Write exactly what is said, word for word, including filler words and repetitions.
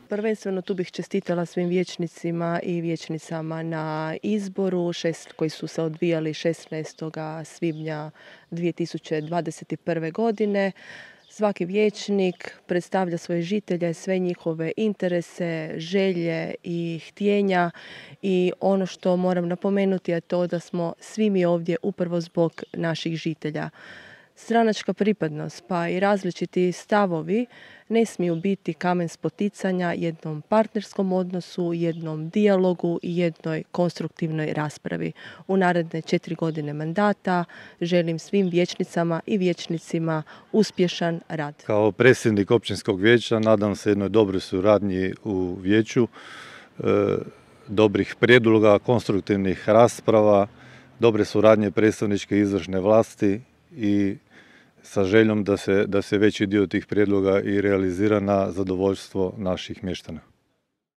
Prvenstveno tu bih čestitala svim vijećnicima i vijećnicama na izboru šest, koji su se odvijali šesnaestog svibnja dvije tisuće dvadeset prve. godine. Svaki vijećnik predstavlja svoje žitelje, sve njihove interese, želje i htjenja i ono što moram napomenuti je to da smo svi mi ovdje upravo zbog naših žitelja. Stranačka pripadnost pa i različiti stavovi ne smiju biti kamen spoticanja jednom partnerskom odnosu, jednom dijalogu i jednoj konstruktivnoj raspravi. U naredne četiri godine mandata želim svim vijećnicama i vijećnicima uspješan rad. Kao predsjednik općinskog vijeća nadam se jednoj dobroj suradnji u vijeću, e, dobrih prijedloga, konstruktivnih rasprava, dobre suradnje predstavničke i izvršne vlasti i sa željom da se, da se veći dio tih prijedloga i realizira na zadovoljstvo naših mještana.